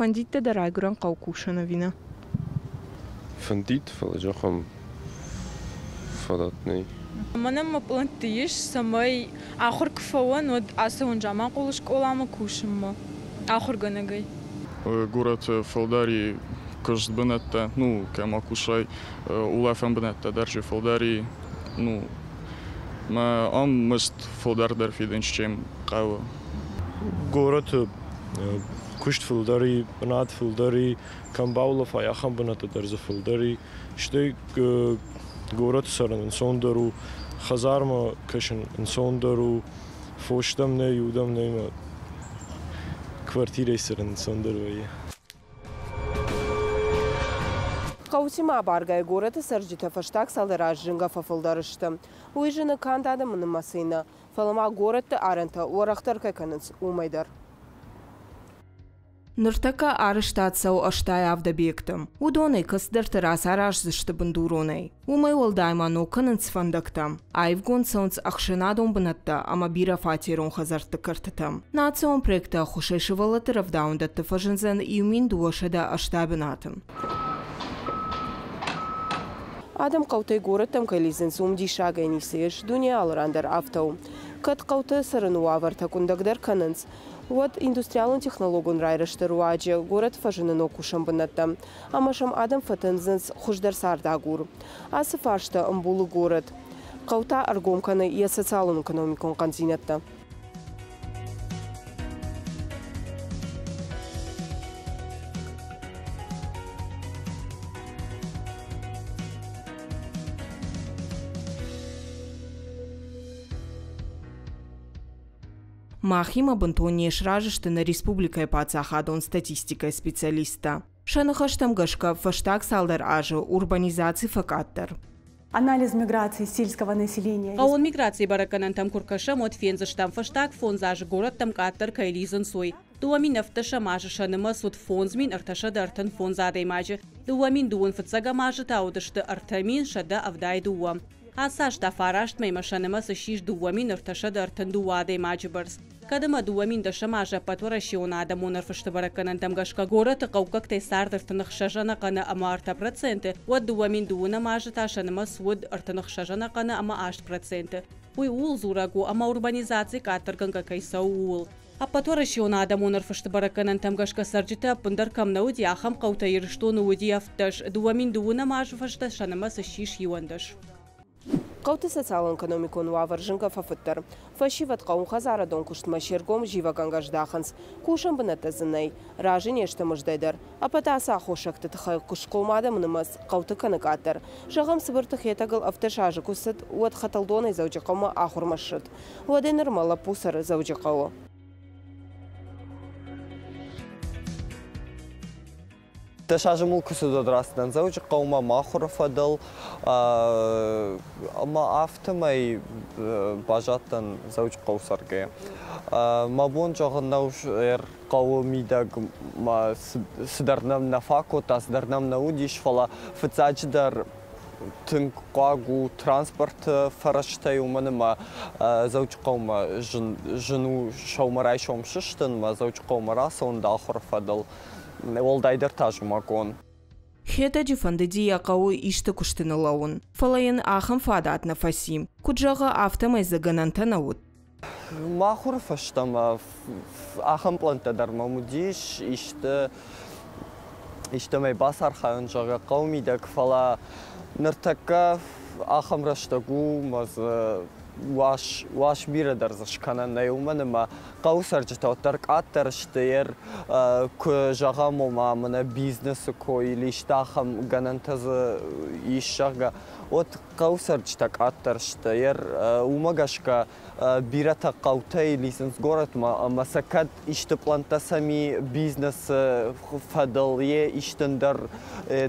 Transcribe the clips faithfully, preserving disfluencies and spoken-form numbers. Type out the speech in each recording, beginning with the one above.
Фӕндид дӕ дӕ райгуырӕн хъӕуы кусын ӕви нӕ? Фӕндид, фӕлӕ зӕгъӕм, фадат нӕй. Мӕнӕн мӕ пълӕнтты ис, цӕмӕй ахуыр куы фӕуон, уӕд ацӕуон Заманхъулы скъоламӕ кусынмӕ ахуыргӕнӕгӕй. Горӕты фылдӕр и куыст бынӕттӕ, ну, кӕм акусай, улӕфӕн бынӕттӕ дӕр же фылдӕр и, ну, мӕ ам мызд фылдӕр дӕр фидынц, чем хъӕуы. Горӕты куыст фылдӕр и, бынат фылдӕр и, кӕм баулӕфай, ахӕм бынӕттӕ дӕр дзы фылдӕр и. Стӕй горӕты цӕрын ӕнцондӕр у, хӕдзармӕ кӕсын ӕнцондӕр у, фос дӕм нӕй, удӕм нӕй, мӕ квартирӕйы цӕрын ӕнцондӕр вӕййы. Хъӕутимӕ абаргӕйӕ горӕты цӕрджытӕ фӕстаг цалдӕр азы зынгӕ фӕфылдӕр сты. Уый зыны канд адӕмы нымӕцӕй нӕ, фӕлӕ ма горӕтты арӕнтӕ уӕрӕхдӕр кӕй кӕнынц, уымӕй дӕр. Ныртӕккӕ арӕзтад цӕуы ӕстай авд объекты. Уыдонӕй кӕцыдӕрты рацараздзысты бындуронӕй. Уымӕй уӕлдай ма ног кӕнынц фӕндӕгтӕ. Аивгонд цӕуынц ӕхсӕнадон бынӕттӕ ӕмӕ бирӕфатерон хӕдзӕртты кӕртытӕ. Национ проекты ӕххуысӕй сывӕллӕтты рӕвдауӕндӕтты фӕзындзӕн иу мин дыууӕсӕдӕ ӕстай бынаты. Адӕм хъӕутӕй горӕттӕм кӕй лидзынц, уым диссагӕй ницы ис, дуне алы ран дӕр афтӕ у. Кӕд хъӕуты цӕрыны уавӕртӕ къуындӕгдӕр кӕнынц, уӕд индустриалон-технологон райрӕзты руаджы горӕт фӕзыны ног кусӕн бынӕттӕ, ӕмӕ сӕм адӕм фӕтындзынц хуыздӕр цардагур. Ацы фарста ӕмбулы горӕт. Хъӕу та ӕргом кӕны йӕ социалон-экономикон хъӕндзинӕдтӕ. Махимӕ бынтон не сразы сты нӕ республикӕйы паддзахадон статистикӕйы специалисттӕ. Сӕ ныхӕстӕм гӕсгӕ фӕстаг цалдӕр азы урбанизаци фӕкъаддӕр. Анализ миграции сельского населения. Хъӕууон миграцийы бӕрӕггӕнӕнтӕм куы ркӕсӕм, уӕд фендзыстӕм, фӕстаг фондз азы горӕттӕм къаддӕр кӕй лидзынц, уый. Дыууӕ мин ӕвддӕсӕм азы сӕ нымӕц уыд фондз мин ӕртӕсӕдӕ ӕртын фондз адӕймаджы, дыууӕ мин дыууын фыццӕгӕм азы та уыдысты ӕртӕ мин сӕдӕ ӕвдай дыууӕ. Ацы аз та фараст мӕймӕ сӕ нымӕц ссис дыууӕ мин ӕртӕсӕдӕ ӕртын дыууӕ адӕймаджы бӕрц. Кӕд ӕмӕ дыууӕ мин дӕсӕм азы ӕппӕтуӕрӕсеон адӕмон ӕрфысты бӕрӕггӕнӕнтӕм гӕсгӕ горӕты хъӕуккӕгтӕй цард ӕртын ӕхсӕз ӕнӕхъӕны ӕмӕ ӕртӕ проценты, уӕд дыууӕ мин дыууынӕм азы та сӕ нымӕц уыд ӕртын ӕхсӕз ӕнӕхъӕны ӕмӕ аст проценты. Уый ууыл дзурӕг у, ӕмӕ урбанизаци къаддӕргӕнгӕ кӕй цӕуы, ууыл. Ӕппӕтуӕрӕсеон адӕмон ӕрфысты бӕрӕггӕнӕнтӕм гӕсгӕ цӕрджытӕ ӕппындӕр кӕм нӕ уыди, ахӕм хъӕутӕ Ирыстоны уыди ӕвддӕс, дыууӕ мин дыууынӕм азы фӕстӕ сӕ нымӕц ссис иуӕндӕс. Хъӕуты социалон-экономикон уавӕр зынгӕ фӕфыддӕр. Фӕсивӕд хъӕууонхӕдзарадон куыстмӕ се ргом зивӕгӕнгӕ здахынц. Кусӕн бынӕттӕ дзы нӕй, разы не сты мыздӕй дӕр. Ӕппӕт ацы аххосӕгты тыххӕй куыстхъом адӕмы нымӕц хъӕуты кӕны къаддӕр. Зӕгъӕм, Цыбырты Хетӕгыл ӕвддӕс азы куы цыд, уӕд Хӕтӕлдонӕй Дзӕуджыхъӕумӕ ахуырмӕ ссыд. Уӕдӕй нырмӕ лӕппу цӕры Дзӕуджыхъӕуы. Дӕс азы мыл куы цыд, уӕд рацыдтӕн Дзӕуджыхъӕумӕ мӕ ахуыры фӕдыл, ӕмӕ афтӕмӕй баззадтӕн Дзӕуджыхъӕуы цӕргӕйӕ. Мӕ бон зӕгъын нӕу, хъӕуы мидӕг ма цыдӕр нӕм нӕ фаг кодта, цыдӕр нӕм нӕ уыдис, фӕлӕ фыццаджыдӕр тынг хъуаг у транспорты фӕрӕзтӕй, уымӕн ӕмӕ Дзӕуджыхъӕумӕ зын, зын у сӕумӕрайсом сыстын, мӕ Дзӕуджыхъӕумӕ рацӕуын дӕ ахуыры фӕдыл. Уӕлдайдӕр та зымӕгон. Хетӕджы фӕндыди йӕ хъӕуы исты куысты ныллӕууын, фӕлӕ йын ахӕм фадат нӕ фӕци. Куыд зӕгъы, афтӕмӕй дзы гӕнӕнтӕ нӕ уыд. Мӕ ахуыры фӕстӕмӕ ахӕм пълӕнттӕ дӕр мӕм уыдис, исты истӕмӕй бацархайон, зӕгъгӕ, хъӕуы мидӕг, фӕлӕ ныртӕккӕ ахӕм рӕстӕг у, мӕ дзы уас, уас бирӕ дӕр дзы скӕнӕн нӕй, уымӕн ӕмӕ хъӕуы цӕрджытӕ уӕддӕр къаддӕр сты, ер куы зӕгъӕм, ома мӕнӕ бизнесы кой или исты ахӕм гӕнӕнтӕ дзы ис, зӕгъгӕ, уӕд хъӕуы цӕрджытӕ къаддӕр сты. Ер уымӕ гӕсгӕ бирӕтӕ хъӕутӕй лидзынц горӕтмӕ ӕмӕ сӕ кӕд исты пълӕнттӕ сӕм и бизнесы фӕдыл, йе исты ӕндӕр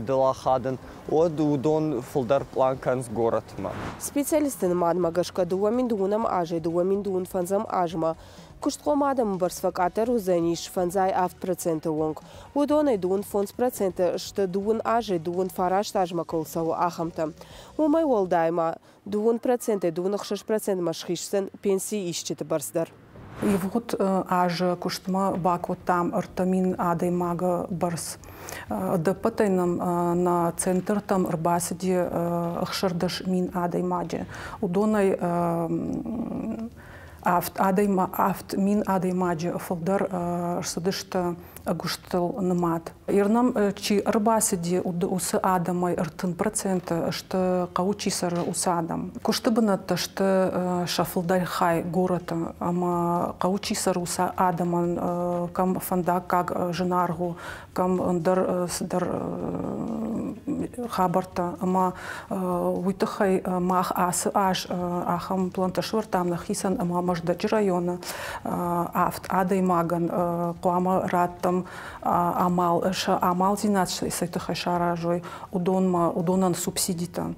дыл ахадын, уӕд уыдон фылдӕр пълан кӕнынц горӕтмӕ. Специалистты нымадмӕ гӕсгӕ дыууӕ мин дыууынӕм азӕй дыууӕ мин дыууын фӕндзӕм азмӕ куыстхъом адӕмы бӕрц фӕкъаддӕр уыдзӕнис фӕндзай авд проценты онг. Уыдонӕй дыууын фондз проценты сты дыууын азӕй дыууын фараст азмӕ кӕуыл цӕуы, ахӕмтӕ. Уымӕй уӕлдай ма дыууын процентӕй дыууын ӕхсӕз процентмӕ схиздзӕн пенсийы исджыты бӕрц дӕр. Ивгъуыд азы куыстмӕ бакодтам ӕртӕ мин адӕймагы бӕрц. Ӕдӕппӕтӕй нӕм нӕ центртӕм ӕрбацыди ӕхсӕрдӕс мин адӕймаджы. Уыдонӕй авд адӕйма авд мин адӕймаджы фылдӕр ӕрцыдысты ӕгуыстыл нымад. Ирнӕм чи ӕрбацыди, уыцы адӕмӕй ӕртын проценты сты хъӕуы чи цӕры, уыцы адӕм. Куысты бынӕттӕ сты сӕ фылдӕр хай горӕты ӕмӕ хъӕуы чи цӕры, уыцы адӕмӕн кӕм фӕндаггаг зынаргъ у, кӕм ӕндӕр цыдӕр хабӕрттӕ. Ӕмӕ уый тыххӕй мах ацы аз ахӕм плантӕ сӕвӕрдтам нӕхицӕн ӕмӕ Мӕздӕджы районы авд адӕймагӕн хъуамӕ раттӕм амал, сӕ амалдзинад цӕй тыххӕй саразой, уыдонмӕ, уыдонӕн субсидитӕ.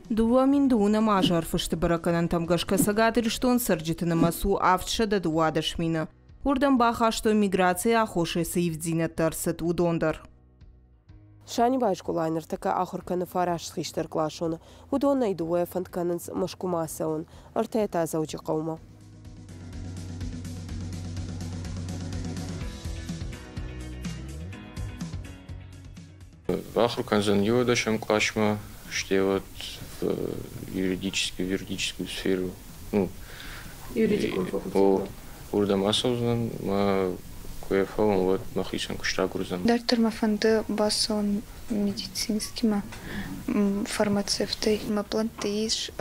Дыууӕ мин дыууынӕм азы ӕрфысты бӕрӕггӕнӕнтӕм гӕсгӕ Цӕгат Ирыстоны цӕрджыты нымӕц у авдсӕдӕ дыууадӕс мины. Уырдӕм бахастой миграцийы аххосӕй цы ивддзинӕдтӕ ӕрцыд, уыдон дӕр. Санибайы скъолайы ныртӕккӕ ахуыр кӕны фараст хистӕркъласоны. Уыдонӕй дыууӕ фӕнд кӕнынц Мӕскуымӕ ацӕуын, ӕртӕ та Дзӕуджыхъӕумӕ. Ахуыр кӕндзӕн иуӕдӕсӕм къласмӕ, стӕй уӕд в юридическую, юридическую сферу. Ну, юридикон факультет. Уырдӕм ацӕудзынӕн, мӕ куы йӕ фӕуон, уӕд мӕхицӕн куыст агурдзӕн. Дарддӕр мӕ фӕнды бацӕуын медицинскимӕ, фармацевтӕй. Мӕ плӕнтты ис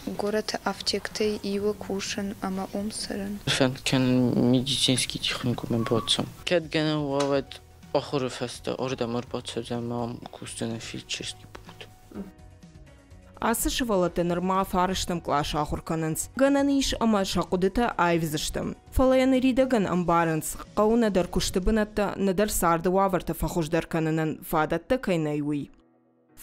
горӕты афтектӕй иуы кусын ӕмӕ уым цӕрын. Фӕнд кӕнын медицинский техникуммӕ бацӕуын. Кӕд гӕнӕн уа, уӕд ахуыры фӕстӕ ардӕм ӕрбацӕудзӕн ӕмӕ ам кусдзӕн фельдшерский пункт. Ацы сывӕллӕттӕ нырма фарӕстӕм къласы ахуыр кӕнынц. Гӕнӕн ис ӕмӕ сӕ хъуыдытӕ аивдзысты. Фӕлӕ йӕ ныридӕгӕн ӕмбарынц, хъӕуы нӕдӕр куысты бынӕттӕ, нӕдӕр царды уавӕртӕ фӕхуыздӕр кӕнынӕн фадӕттӕ кӕй нӕй, уый.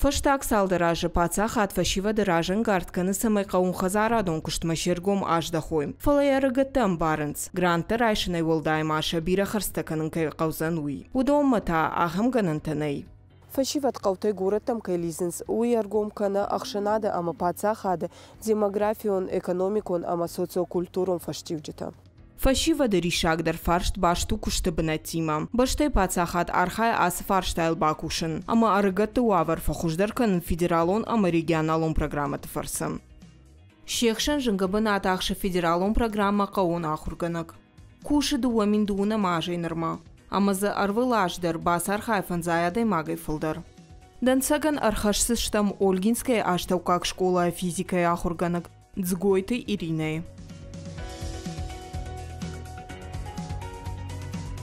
Фӕстаг цалдӕр азы паддзахад фӕсивӕды разӕнгард кӕны, цӕмӕй хъӕууонхӕдзарадон куыстмӕ се ргом аздӕхой. Фӕлӕ йӕ ӕрыгӕттӕ ӕмбарынц, гранттӕ райсынӕй уӕлдай ма сӕ бирӕ хӕрдзтӕ кӕнын кӕй хъӕудзӕн, уый. Уыдонмӕ та ахӕм гӕнӕнтӕ нӕй. Фӕсивӕд хъӕутӕй горӕттӕм кӕй лидзынц, уый ӕргом кӕны ӕхсӕнады ӕмӕ паддзахады демографион, экономикон ӕмӕ социокультурон фӕстиуджытӕ. Фӕсивӕды риссагдӕр фарст баст у куысты бынӕттимӕ. Бӕстӕйы паддзахад архайы ацы фарстайыл бакусын ӕмӕ ӕрыгӕтты уавӕр фӕхуыздӕр кӕнын федералон ӕмӕ регионалон программӕты фӕрцы. Се хсӕн зынгӕ бынат ахсы федералон программӕ «Хъӕууон ахуыргӕнӕг». Кусы дыууӕ мин дыууынӕм азӕй нырмӕ. Ӕмӕ дзы ӕрвылаз дӕр бацархайы фӕндзай адӕймагӕй фылдӕр. Дӕнцӕгӕн ӕрхӕсдзыстӕм Ольгинскӕйы астӕуккаг скъолайы физикӕйы ахуыргӕнӕг Дзгойты Иринӕйы.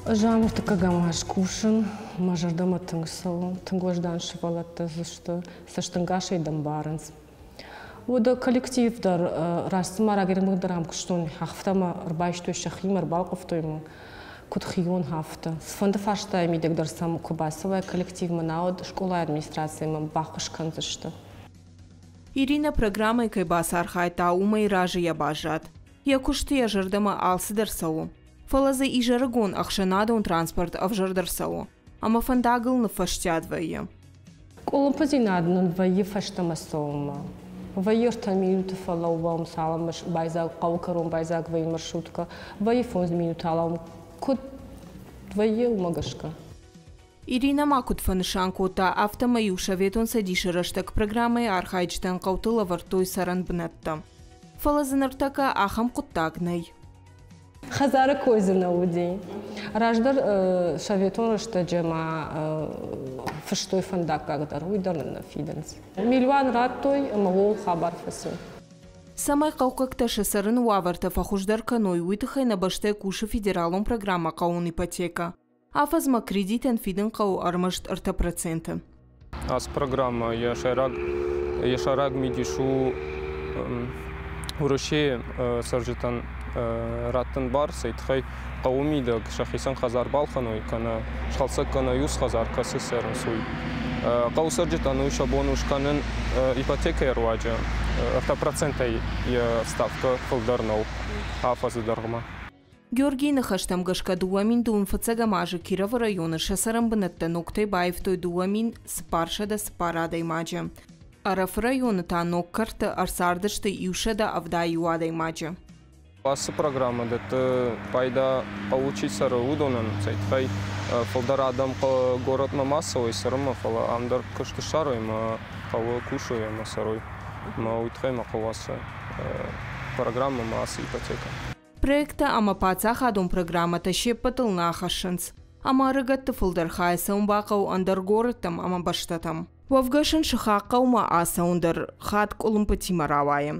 Ӕз ам ӕртыккӕгӕм аз кусын, мӕ зӕрдӕмӕ тынг цӕуы, тынг уӕздан сывӕллӕттӕ дзы сты, цӕстӕнгасӕй дӕм барынц. Уӕдӕ коллектив дӕр раст цыма рагӕй дӕр ам куыстон, афтӕ мӕ ӕрбайстой сӕхимӕ, ӕрбалхъывтой мӕ, куыд хион, афтӕ. Цыфӕнды фарстайы мидӕг дӕр сӕм куы бацӕуай коллективмӕ, науӕд скъолайы администрацимӕ баххуыс кӕндзысты. Иринӕ программӕйы кӕй бацархайдта, уымӕй разыйӕ баззад. Йӕ куысты йӕ зӕрдӕмӕ алцыдӕр цӕуы. Фӕлӕ дзы изӕрыгон ӕхсӕнадон транспорт ӕвзӕрдӕр цӕуы ӕмӕ фӕндагыл ныффӕстиат вӕййы. Къуылымпыдзинад нын вӕййы фӕстӕмӕ цӕуынмӕ. Вӕййы ӕртӕ минуты фӕлӕууӕм, цалынмӕ байдзаг, хъӕуы кӕрон байдзаг вӕййы маршруткӕ, вӕййы фондз минуты алӕууӕм. Куыд вӕййы, уымӕ гӕсгӕ. Иринӕ ма куыд фӕнысан кодта, афтӕмӕй-иу Советон Цӕдисы рӕстӕг программӕйы архайджытӕн хъӕуты лӕвӕрдтой цӕрӕн бынӕттӕ. Фӕлӕ дзы ныртӕккӕ ахӕм хъуыддаг нӕй. Хӕдзары кой дзы нӕ уыди. Раздӕр советон рӕстӕджы ма фыстой фӕндаггаг дӕр, уый дӕр нын нӕ фидынц. Милуан радтой ӕмӕ ууыл хабар фӕци. Цӕмӕй хъӕуккӕгтӕ сӕ цӕрыны уавӕртӕ фӕхуыздӕр кӕной, уый тыххӕй нӕ бӕстӕйы кусы федералон программӕ «Хъӕууон ипотекӕ». Афӕдзмӕ кредитӕн фидын хъӕуы ӕрмӕст ӕртӕ проценты. Ацы программӕ йӕ сӕйраг, йӕ сӕйраг мидис у Уӕрӕсейы цӕрджытӕн раттын бар, цӕй тыххӕй хъӕуы мидӕг сӕхицӕн хӕдзар балхӕной кӕнӕ схӕлцӕг кӕной ус хӕдзар, кӕцы цӕрынц, уый. Хъӕуы цӕрджытӕн уый сӕ бон у скӕнын ипотекӕйы руаджы, ӕртӕ процентӕй йӕ ставкӕ фылдӕр нӕу афӕдзы дӕргъмӕ. Георгийы ныхӕстӕм гӕсгӕ дыууӕ мин дыууын фыццӕгӕм азы Кировы районы сӕ цӕрӕнбынӕттӕ ногтӕй баивтой дыууӕ мин цыппарсӕдӕ цыппар адӕймаджы. Ӕрӕфы районы та ног кӕрты ӕрцардысты иу сӕдӕ ӕвдай иу адӕймаджы. Ацы программӕ дӕтты пайда хъӕуы чи цӕры, уыдонӕн, цӕй тыххӕй фылдӕр адӕм горӕтмӕ ма цӕуой цӕрынмӕ, фӕлӕ ам дӕр куыст ссарой ӕмӕ хъӕуы кусой ӕмӕ цӕрой. Ӕмӕ уый тыххӕй ма хъӕуы ацы программӕ ӕмӕ ацы ипотекӕ. Проекттӕ ӕмӕ паддзахадон программӕтӕ се ппӕтыл нӕ ахӕссынц. Ӕмӕ ӕрыгӕтты фылдӕр хай цӕуын бахъӕуы ӕндӕр горӕттӕм ӕмӕ бӕстӕтӕм. Уӕвгӕ сын сыхаг хъӕумӕ ацӕуын дӕр хатт къуылымпытимӕ рауайы.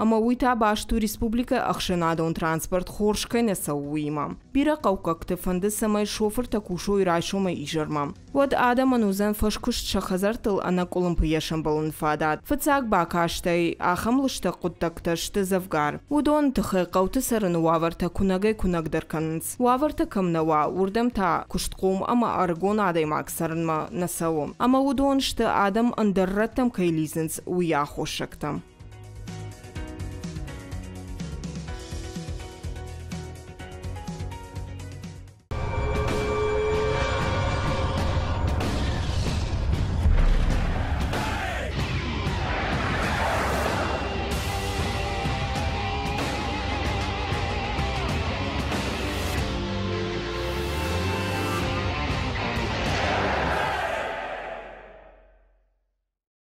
Ӕмӕ уый та баст у республикӕйы ӕхсӕнадон транспорт хорз кӕй нӕ цӕуы, уыимӕ. Бирӕ хъӕуккӕгты фӕнды, цӕмӕй шофыртӕ кусой райсомӕй изӕрмӕ. Уӕд адӕмӕн уыдзӕн фӕскуыст сӕ хӕдзӕрттыл ӕнӕкъуылымпыйӕ сӕмбӕлыны фадат. Фыццаг бакастӕй ахӕм лыстӕг хъуыддӕгтӕ сты дзӕвгар. Уыдоны тыххӕй хъӕуты цӕрыны уавӕртӕ куынӕгӕй-куынӕгдӕр кӕнынц. Уавӕртӕ кӕм нӕ уа, уырдӕм та куыстхъом ӕмӕ ӕрыгон адӕймаг цӕрынмӕ нӕ цӕуы. Ӕмӕ уыдон сты, адӕм ӕндӕр рӕттӕм кӕй лидзынц, уый аххосӕгтӕ.